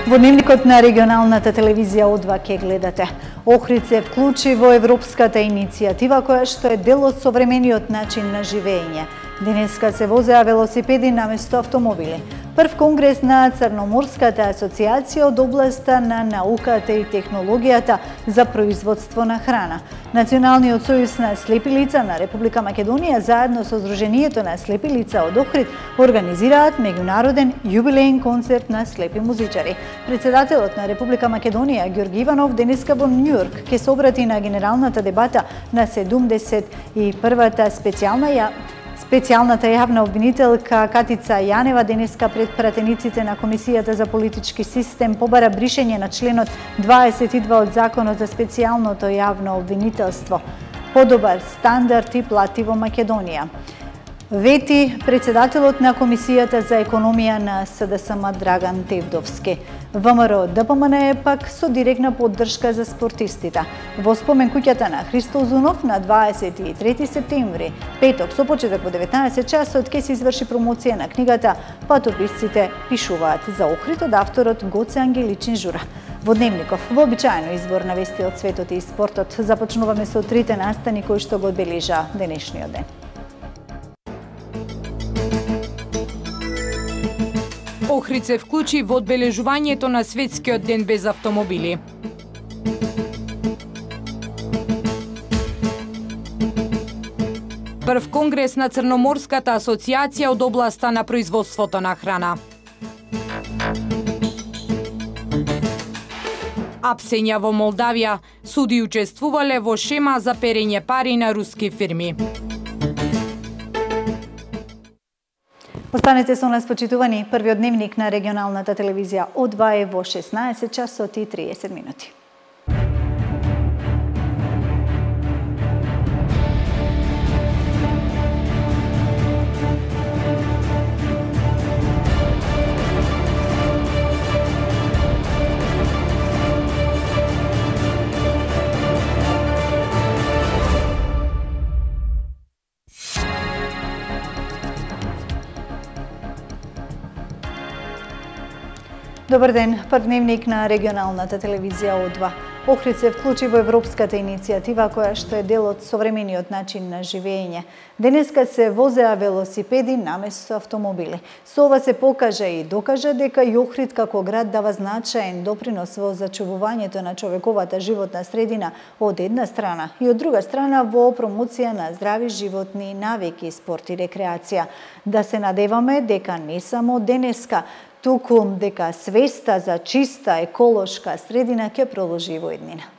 Во дневникот на регионалната телевизија О2 ке гледате. Охрид се вклучи во европската иницијатива која што е дел од современиот начин на живење. Денеска се возеа велосипеди наместо автомобили. Прв конгрес на Црноморската асоциација од областа на науката и технологијата за производство на храна. Националниот сојуз на слепи лица на Република Македонија заедно со Сдруженијето на слепи лица од Охрид организираат меѓународен јубилеен концерт на слепи музичари. Председателот на Република Македонија Ѓорги Иванов денеска во Њујорк ќе се обрати на генералната дебата на 71-та Специјалната јавна обвинителка Катица Јанева денеска пред пратениците на Комисијата за политички систем побара бришење на членот 22 од Законот за специјалното јавно обвинителство. Подобар стандард и плати во Македонија. Вети председателот на Комисијата за економија на СДСМ Драган Тевдовски. ВМРО ДПМН пак со директна поддршка за спортистите. Во спомен куќата на Христо Узунов на 23 септември, петок со почеток во 19 часот ќе се изврши промоција на книгата Патописците пишуваат за Охрид од авторот Гоце Ангеличин Жура. Во дневников, вообичаено избор на вести од светот и спортот, започнуваме со трите настани кои што го одбележа денешниот ден. Охрид се вклучи во одбележувањето на светскиот ден без автомобили. Прв конгрес на Црноморската асоциација од областа на производството на храна. Апсења во Молдавија, суди учествувале во шема за перење пари на руски фирми. Останете со нас, почитувани. Првиот дневник на регионалната телевизија О2 е во 16 часот и 30 минути. Добар ден, прв дневник на регионалната телевизија О2. Охрид се вклучи во европската иницијатива која што е дел од современиот начин на живење. Денеска се возеа велосипеди наместо автомобили. Со ова се покажа и докажа дека и Охрид како град дава значаен допринос во зачувувањето на човековата животна средина од една страна и од друга страна во промоција на здрави животни навики, спорт и рекреација. Да се надеваме дека не само денеска, туку дека свеста за чиста еколошка средина ќе продолжи во иднина.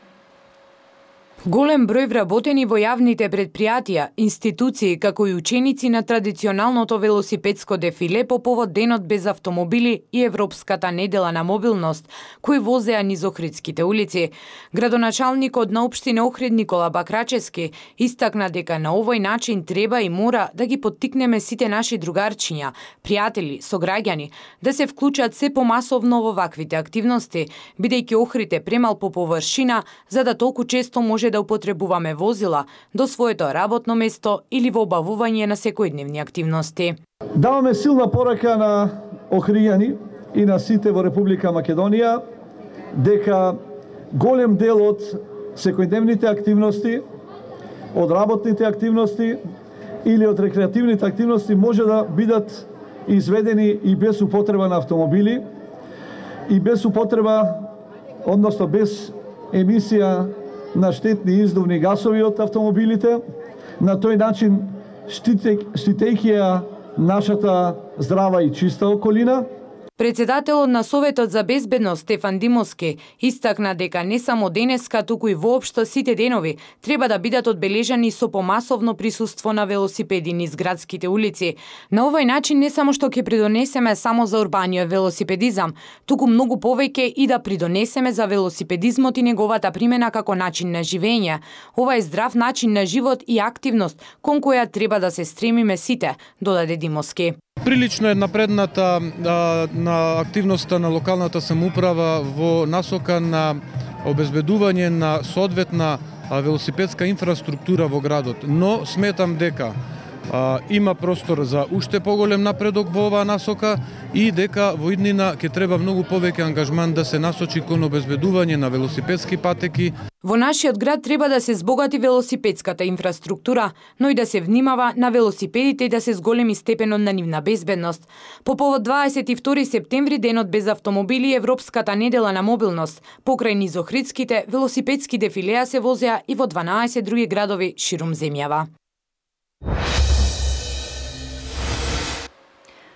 Голем број вработени во јавните предпријатија, институции, како и ученици на традиционалното велосипедско дефиле по повод денот без автомобили и Европската недела на мобилност, кои возеа низ охридските улици. Градоначалникот на општина Охрид Никола Бакрачевски истакна дека на овој начин треба и мора да ги поттикнеме сите наши другарчиња, пријатели, сограѓани, да се вклучат се помасовно во ваквите активности, бидејќи Охрид е премал по површина за да толку често може да употребуваме возила до своето работно место или во обавување на секојдневни активности. Даваме силна порака на охријани и на сите во Република Македонија дека голем дел од секојдневните активности, од работните активности или од рекреативните активности може да бидат изведени и без употреба на автомобили и без употреба, односно без емисија на штетни издувни гасови од автомобилите, на тој начин штитејќи ја нашата здрава и чиста околина. Председателот на Советот за безбедност Стефан Димовски истакна дека не само денеска, туку и воопшто сите денови треба да бидат одбележани со помасовно присуство на велосипеди низ градските улици. На овој начин не само што ќе придонесеме само за урбаниот велосипедизам, туку многу повеќе и да придонесеме за велосипедизмот и неговата примена како начин на живење. Ова е здрав начин на живот и активност кон која треба да се стремиме сите, додаде Димовски. Прилично е напредната на активноста на локалната самоуправа во насока на обезбедување на соодветна велосипедска инфраструктура во градот, но сметам дека има простор за уште поголем напредок во оваа насока и дека во иднина ќе треба многу повеќе ангажман да се насочи кон обезбедување на велосипедски патеки. Во нашиот град треба да се збогати велосипедската инфраструктура, но и да се внимава на велосипедите и да се зголеми степенот на нивна безбедност. По повод 22 септември, денот без автомобили и Европската недела на мобилност, покрај низ Охридските, велосипедски дефилеа се возеа и во 12 други градови ширум земјава.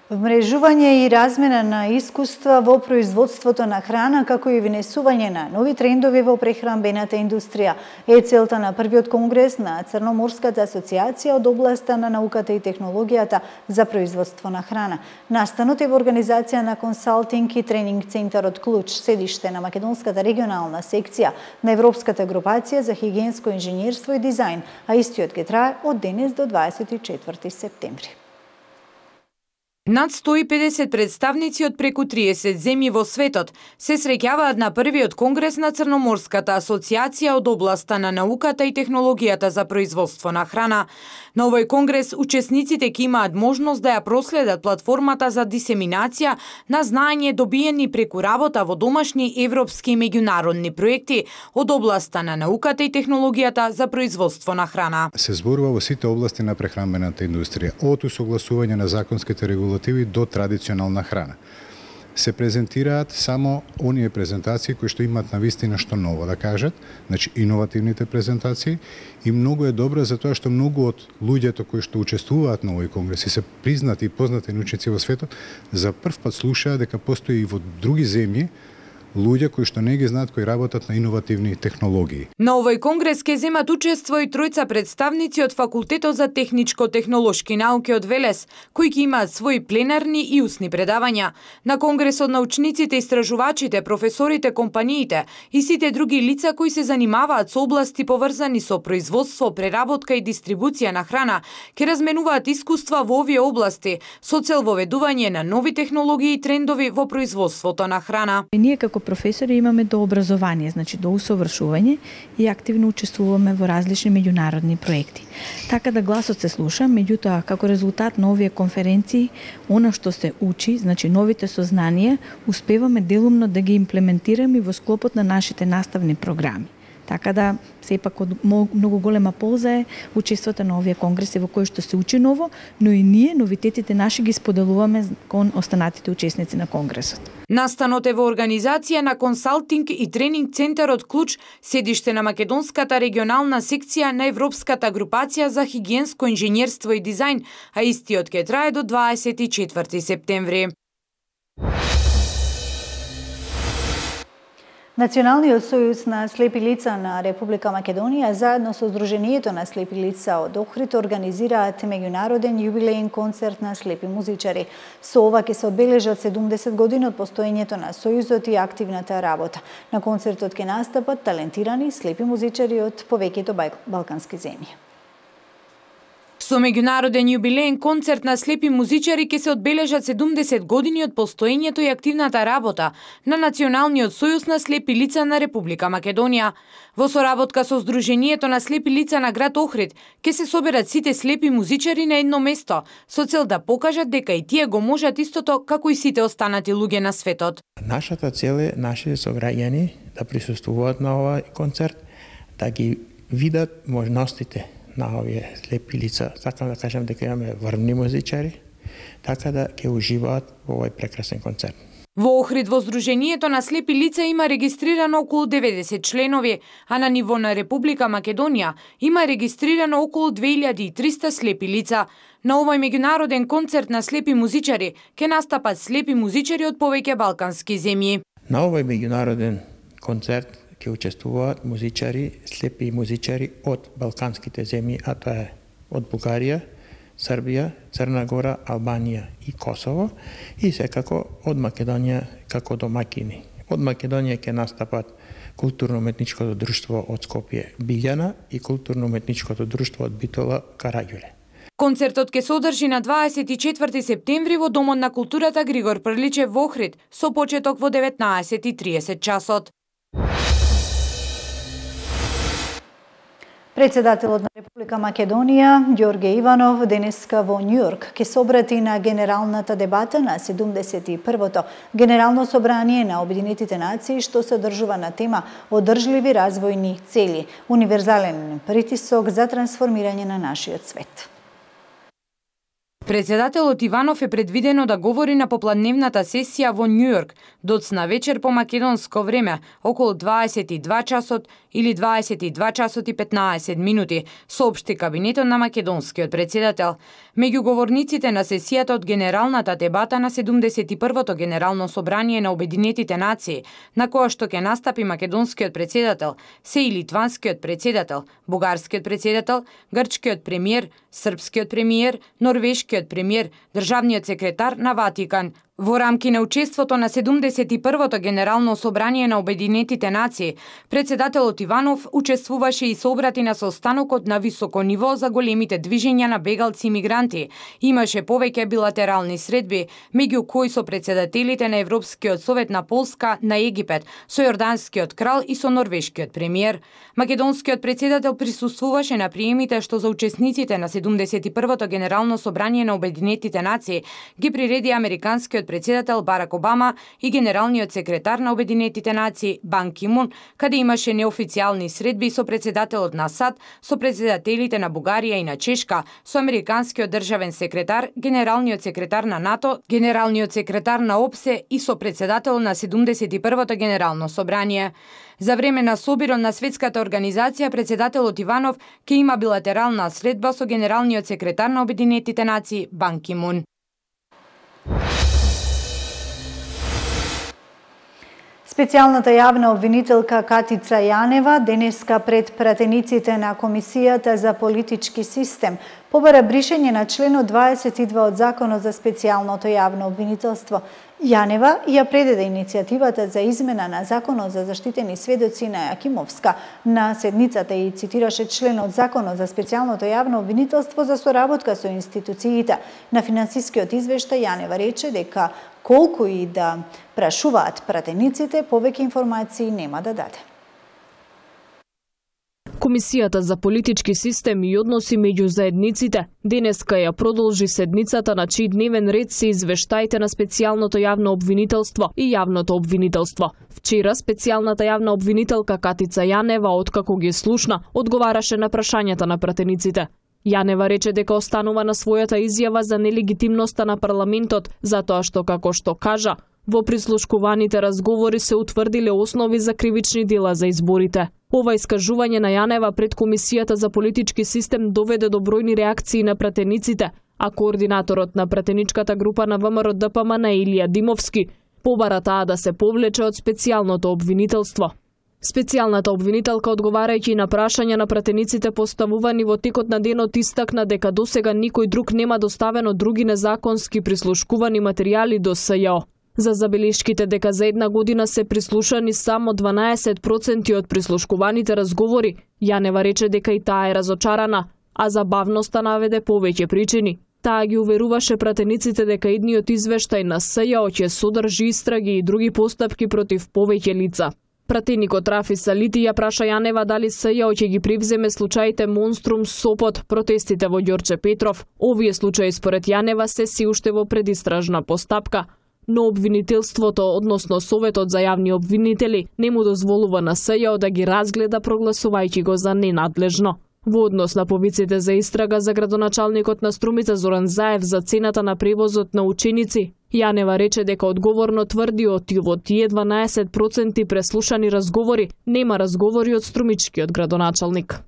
Вмрежување и размена на искуства во производството на храна, како и внесување на нови трендови во прехранбената индустрија е целта на првиот конгрес на Црноморската асоциација од областа на науката и технологијата за производство на храна. Настанот е во организација на консалтинг и тренинг центарот Клуч, седиште на Македонската регионална секција на Европската групација за хигиенско инженерство и дизајн, а истиот ќе трае од денес до 24 септември. Над 150 представници од преку 30 земји во светот се среќаваат на првиот конгрес на Црноморската асоциација од областа на науката и технологијата за производство на храна. На овој конгрес учесниците ќе имаат можност да ја проследат платформата за дисеминација на знаење добиени преку работа во домашни европски и меѓународни проекти од областа на науката и технологијата за производство на храна. Се зборува во сите области на прехранбената индустрија, од усогласување на законските регулативи до традиционална храна. Се презентираат само оние презентации кои што имаат навистина што ново да кажат, значи иновативните презентации, и многу е добро затоа што многу од луѓето кои што учествуваат на овој конгрес и се признати и познати научници во светот, за прв пат слушаат дека постои и во други земји луѓе кои што не ги знаат, кои работат на иновативни технологии. На овој конгрес ќе земат учество и тројца представници од Факултетот за техничко-технолошки науки од Велес, кои ќе имаат своји пленарни и усни предавања. На конгресот научниците, истражувачите, професорите, компаниите и сите други лица кои се занимаваат со области поврзани со производство, преработка и дистрибуција на храна, ќе разменуваат искуства во овие области со цел воведување на нови технологии и трендови во производството на храна. Ние како професори имаме до образование, значи до усовршување и активно учествуваме во различни меѓународни проекти. Така да гласот се слуша, меѓутоа како резултат на овие конференции, она што се учи, значи новите сознанија, успеваме делумно да ги имплементираме во склопот на нашите наставни програми. Така да, сепак од многу голема полза е учеството на овие конгреси во кои што се учи ново, но и ние новитетите наши ги споделуваме кон останатите учесници на конгресот. Настанот е во организација на консалтинг и тренинг центарот Клуч, седиште на Македонската регионална секција на Европската групација за хигиенско инженерство и дизајн, а истиот ќе трае до 24 септември. Националниот сојуз на слепи лица на Република Македонија заедно со Сдруженијето на слепи лица од Охрид организираат меѓународен јубилеен концерт на слепи музичари. Со ова ќе се одбележат 70 години од постоењето на сојузот и активната работа. На концертот ќе настапат талентирани слепи музичари од повеќето балкански земји. Со меѓународен јубилеен концерт на слепи музичари ќе се одбележат 70 години од постоењето и активната работа на Националниот сојуз на слепи лица на Република Македонија. Во соработка со Сдруженијето на слепи лица на град Охрид ќе се соберат сите слепи музичари на едно место со цел да покажат дека и тие го можат истото како и сите останати луѓе на светот. Нашата цел е нашите сограѓани да присуствуваат на овој концерт, да ги видат можностите на овие слепи лица. Сакам да кажам дека имаме врвни музичари, така да ќе уживаат во овој прекрасен концерт. Во Охрид во Сдруженијето на слепи лица има регистрирано околу 90 членови, а на ниво на Република Македонија има регистрирано околу 2300 слепи лица. На овој меѓународен концерт на слепи музичари ќе настапат слепи музичари од повеќе балкански земји. На овој меѓународен концерт ќе учествуваат музичари, слепи музичари од балканските земји, а тоа е од Бугарија, Србија, Црна Гора, Албанија и Косово, и секако од Македонија како домакини. Од Македонија ќе настапат културно-уметничкото друштво од Скопје Билјана и културно-уметничкото друштво од Битола Караѓуле. Концертот ќе се одржи на 24 септември во Домот на културата Григор Прличев во Охрид со почеток во 19:30 часот. Председателот на Република Македонија, Ѓорге Иванов, денеска во Њујорк ќе се обрати на генералната дебата на 71-то Генерално собрание на Обединетите нации, што се одржува на тема одржливи развојни цели, универзален притисок за трансформирање на нашиот свет. Председателот Иванов е предвидено да говори на попладневната сесија во Њујорк доцна вечер по македонско време, околу 22 часот или 22 часот и 15 минути, соопшти кабинетот на македонскиот председател. Меѓу говорниците на сесијата од Генералната дебата на 71-то Генерално собрание на Обединетите нации, на која што ќе настапи македонскиот председател, се и литванскиот председател, бугарскиот председател, грчкиот премиер, српскиот премиер, норвешкиот премиер, државниот секретар на Ватикан. Во рамки на учеството на 71-то Генерално собрание на Обединетите нации, председателот Иванов учествуваше и се обрати на состанокот на високо ниво за големите движења на бегалци и мигранти. Имаше повеќе билатерални средби, меѓу кои со председателите на Европскиот совет на Полска, на Египет, со јорданскиот крал и со норвешкиот премиер. Македонскиот председател присуствуваше на приемите што за учесниците на 71-то Генерално собрание на Обединетите нации ги приреди американскиот председател Барак Обама и генералниот секретар на Обединетите нации Бан Ки Мун, каде имаше неофицијални средби со председателот на САД, со председателите на Бугарија и на Чешка, со американскиот државен секретар, генералниот секретар на НАТО, генералниот секретар на ОПСЕ и со председател на 71-то Генерално собрание. За време на собирот на Светската организација, председателот Иванов ќе има билатерална средба со генералниот секретар на Обединетите нации Бан Ки Мун. Специјалната јавна обвинителка Катица Јанева денеска пред пратениците на Комисијата за политички систем побара бришење на членот 22 од Законот за специјалното јавно обвинителство. Јанева ја предаде иницијативата за измена на Законот за заштитени сведоци на Јакимовска на седницата и цитираше членот Законот за специјалното јавно обвинителство за соработка со институциите. На финансискиот извештај Јанева рече дека колку и да прашуваат пратениците, повеќе информации нема да даде. Комисијата за политички систем и односи меѓу заедниците денеска ја продолжи седницата на чиј дневен ред се извештаите на специјалното јавно обвинителство и јавното обвинителство. Вчера специјалната јавна обвинителка Катица Јанева, откако ги слушна, одговараше на прашањата на пратениците. Јанева рече дека останува на својата изјава за нелегитимноста на парламентот, затоа што, како што кажа, во прислушкуваните разговори се утврдиле основи за кривични дела за изборите. Ова искажување на Јанева пред Комисијата за политички систем доведе до бројни реакции на пратениците, а координаторот на пратеничката група на ВМРО ДПМН Илија Димовски побара таа да се повлече од специјалното обвинителство. Специјалната обвинителка, одговарајќи на прашања на пратениците поставувани во текот на денот, истакна дека досега никој друг нема доставено други незаконски прислушкувани материјали до СЈО. За забелешките дека за една година се прислушани само 12% од прислушкуваните разговори, Јанева рече дека и таа е разочарана, а за бавноста наведе повеќе причини. Таа ги уверуваше пратениците дека идниот извештај на СЈО ќе содржи истраги и други постапки против повеќе лица. Пратеникот Рафи Салити ја праша Јанева дали СЈО ќе ги превземе случаите Монструм, Сопот, протестите во Ѓорче Петров. Овие случаи според Јанева се си уште во предистражна постапка, но обвинителството, односно Советот за јавни обвинители, не му дозволува на СЈО да ги разгледа, прогласувајќи го за ненадлежно. Во однос на повиците за истрага за градоначалникот на Струмица Зоран Заев за цената на превозот на ученици, Јанева рече дека одговорно тврди од тие 12% преслушани разговори, нема разговори од струмичкиот градоначалник.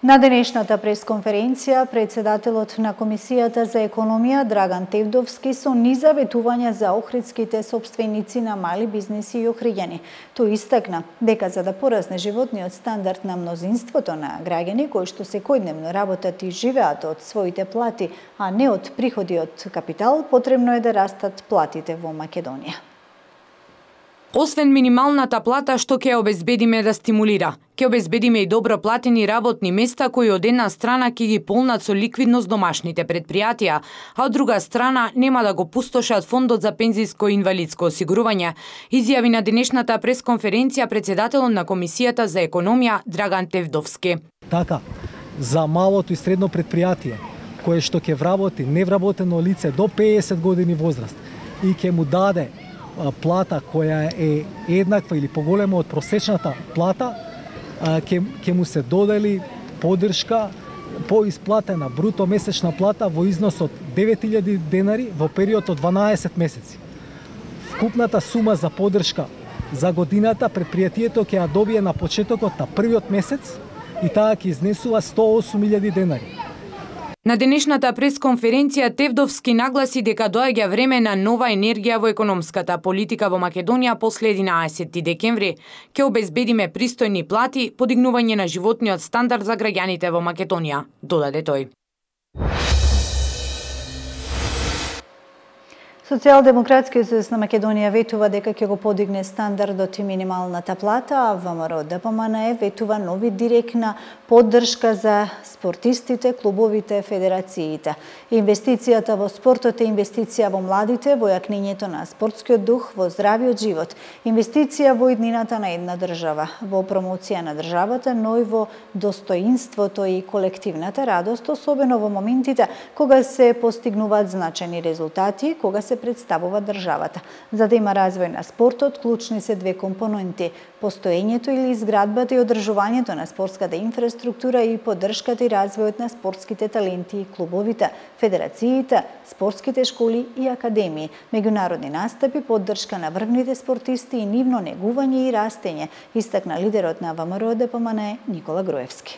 На денешната пресконференција, председателот на Комисијата за економија Драган Тевдовски со низа ветувања за охридските сопственици на мали бизниси и охриѓани. Тој истакна дека за да порасне животниот стандард на мнозинството на граѓани кои што секојдневно работат и живеат од своите плати, а не од приходи од капитал, потребно е да растат платите во Македонија. Освен минималната плата што ќе обезбедиме да стимулира, ќе обезбедиме и добро платени работни места кои од една страна ќе ги полнат со ликвидност домашните предпријатија, а од друга страна нема да го пустошат фондот за пензиско и инвалидско осигурување, изјави на денешната пресконференција претседателот на Комисијата за економија Драган Тевдовски. Така, за малото и средно предпријатие, кое што ќе вработи невработено лице до 50 години возраст и ќе му даде плата која е еднаква или поголема од просечната плата, ќе му се додели поддршка по исплатена бруто месечна плата во износ од 9000 денари во период од 12 месеци. Вкупната сума за поддршка за годината предпријатието ќе ја добие на почетокот на првиот месец и таа ќе изнесува 108.000 денари. На денешната пресконференција Тевдовски нагласи дека доаѓа време на нова енергија во економската политика во Македонија после 11 декември. Ќе обезбедиме пристојни плати, подигнување на животниот стандард за граѓаните во Македонија, додаде тој. Социјалдемократскиот сојуз на Македонија ветува дека ќе го подигне стандардот и минималната плата, а ВМРО ДПМН ветува нови директна поддршка за спортистите, клубовите, федерациите. Инвестицијата во спортот е инвестиција во младите, во јакнењето на спортскиот дух, во здравиот живот, инвестиција во иднината на една држава, во промоција на државата, но и во достоинството и колективната радост, особено во моментите кога се постигнуваат значајни резултати, кога се представува државата. За да има развој на спортот, клучни се две компоненти: постоењето или изградбата и одржувањето на спортската инфраструктура и поддршката и развојот на спортските таленти и клубовите, федерациите, спортските школи и академии, меѓународни настапи, поддршка на врвните спортисти и нивно негување и растење, истакна лидерот на ВМРО ДПМН Никола Груевски.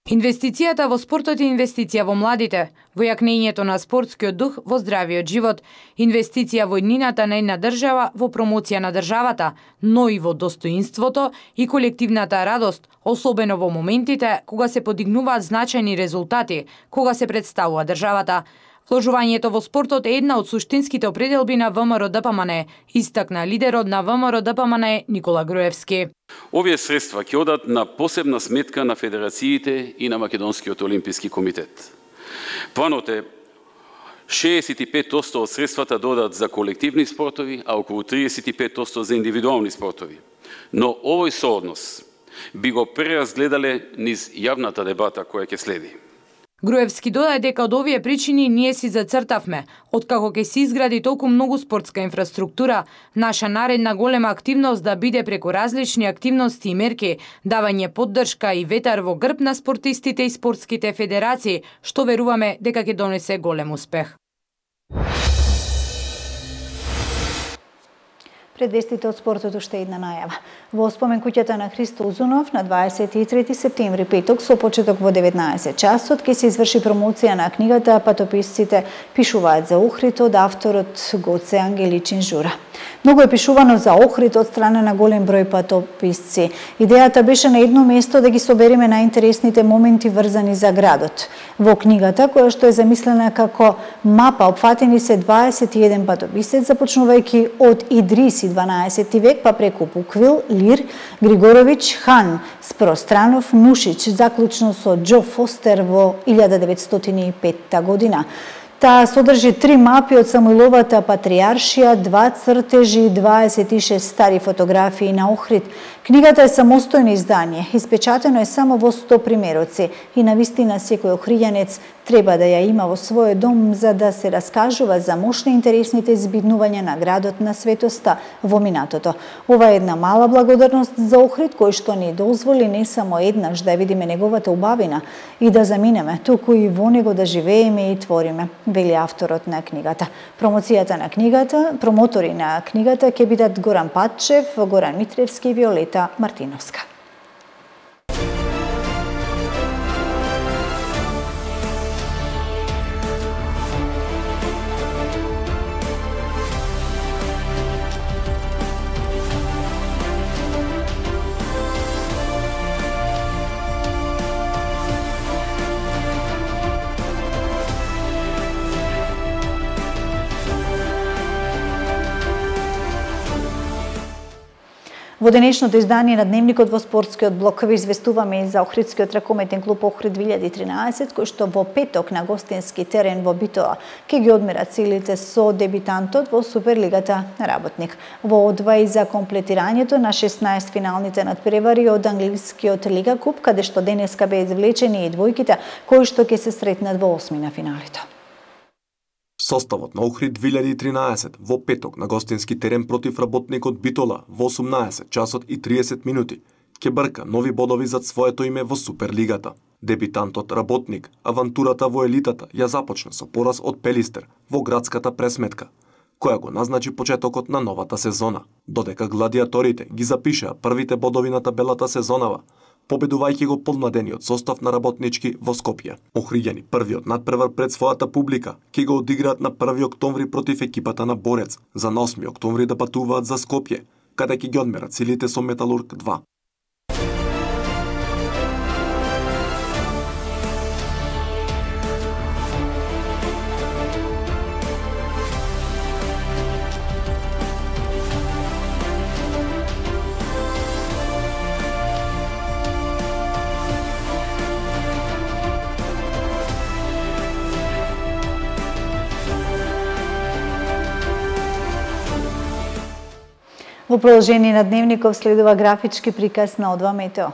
Инвестицијата во спортот е инвестиција во младите, во јакнењето на спортскиот дух, во здравиот живот, инвестиција во иднината на една држава, во промоција на државата, но и во достоинството и колективната радост, особено во моментите кога се подигнуваат значајни резултати, кога се представува државата. Вложувањето во спортот е една од суштинските определби на ВМРО ДПМН, истакна лидерот на ВМРО ДПМН Никола Груевски. Овие средства ќе одат на посебна сметка на федерациите и на Македонскиот олимписки комитет. Планот е 65% од средствата додат за колективни спортови, а околу 35% за индивидуални спортови. Но овој сооднос би го преразгледале низ јавната дебата која ќе следи. Груевски додаде дека од овие причини ние си зацртавме, откако ќе се изгради толку многу спортска инфраструктура, наша наредна голема активност да биде преку различни активности и мерки, давање поддршка и ветар во грб на спортистите и спортските федерации, што веруваме дека ќе донесе голем успех. Пред вестите од спортот уште една најава. Во спомен куќата на Христо Узунов на 23 септември, петок, со почеток во 19 часот, ќе се изврши промоција на книгата "Патописците пишуваат за Охрид" од авторот Гоце Ангеличин Жура. Многу е пишувано за Охрид од страна на голем број патописци. Идејата беше на едно место да ги собереме најинтересните моменти врзани за градот. Во книгата, која што е замислена како мапа, опфатени се 21 патописец, започнувајќи од Идриси 12 век, па преку Буквил, Лир, Григоровиќ, Хан, Спространов, Нушич, заклучно со Џо Фостер во 1905 година. Таа содржи 3 мапи од Самуиловата патријаршија, 2 цртежи и 26 стари фотографии на Охрид. Книгата е самостојно издание, испечатено е само во 100 примероци и навистина секој охриѓанец треба да ја има во својот дом за да се раскажува за мощни интересните збиднувања на градот на светоста во минатото. Ова е една мала благодарност за Охрид кој што ни дозволи не само еднаш да видиме неговата убавина и да заминеме, туку и во него да живееме и твориме, вели авторот на книгата. Промотори на книгата ќе бидат Горан Патчев, Горан Митревски и Виолета Мартиновска. Во денешното издание на Дневникот во спортскиот блок ви известуваме и за Охридскиот ракометен клуб Охрид 2013, кој што во петок на гостински терен во Битола ќе ги одмерат силите со дебитантот во Суперлигата Работник. Во одва и за комплетирањето на 16 финалните надпревари од англискиот Лига Куп, каде што денеска беа извлечени и двојките кои што ќе се сретнат во осмина финалите. Составот на Охрид 2013 во петок на гостински терен против Работникот Битола во 18 часот и 30 минути ќе брка нови бодови зад своето име во Суперлигата. Дебитантот Работник авантурата во елитата ја започна со пораз од Пелистер во градската пресметка, која го назначи почетокот на новата сезона, додека гладиаторите ги запишаа првите бодови на табелата сезонава, победувајќи го подмладениот состав на Работнички во Скопје. Охриѓани првиот надпревар пред својата публика ќе го одиграат на 1 октомври против екипата на Борец, за на 8 октомври да патуваат за Скопје, каде ќе ги одмерат силите со Металург 2. Во продолжение на Дневников следува графички приказ на Одва Метео.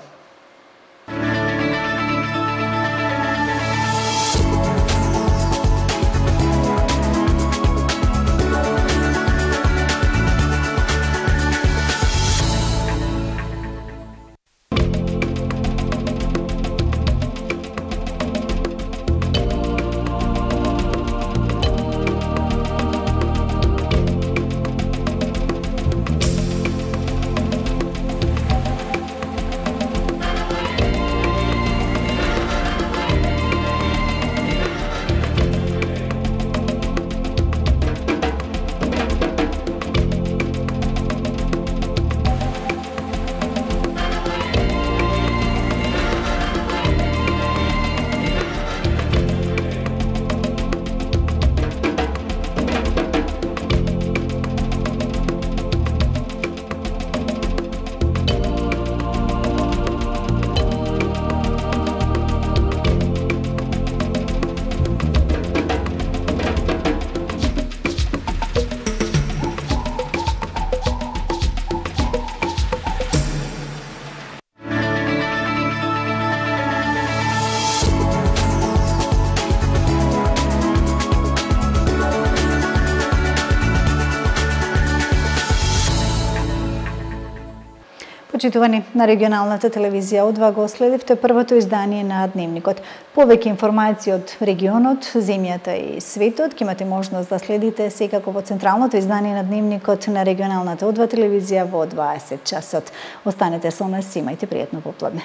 Почитувани, на регионалната телевизија Одва го следивте првото издание на Дневникот. Повеќе информации од регионот, земјата и светот ќе имате можност да следите секако во централното издание на Дневникот на регионалната Одва телевизија во 20 часот. Останете со нас, имајте пријатно попладне.